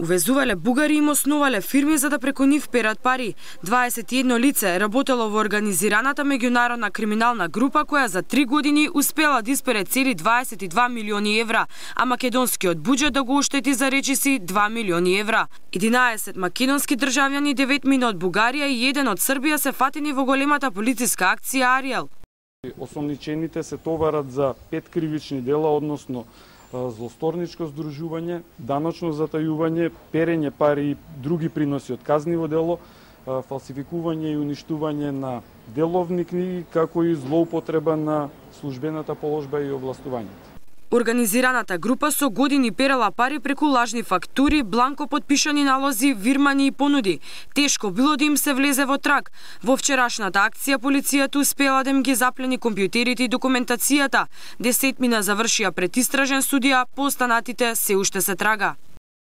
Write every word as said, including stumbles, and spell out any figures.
Увезувале бугари им основале фирми за да преку нив перат пари. дваесет и едно лице работело во организираната меѓународна криминална група која за три години успела да испере цели дваесет и два милиони евра, а македонскиот буџет да го оштети за речиси два милиони евра. единаесет македонски државјани, деветмина од Бугарија и еден од Србија се фатени во големата полициска акција Ариел. Осомничените се товарат за пет кривични дела, односно злосторничко здружување, даночно затајување, перење пари и други приноси од казниво дело, фалсификување и уништување на деловни книги, како и злоупотреба на службената положба и овластувањето. Организираната група со години перала пари преку лажни фактури, бланко потпишани налози, вирмани и понуди. Тешко било да им се влезе во траг. Во вчерашната акција полицијата успела да им ги заплени компјутерите и документацијата. Десетмина завршија пред истражен судија, по останатите се уште се трага.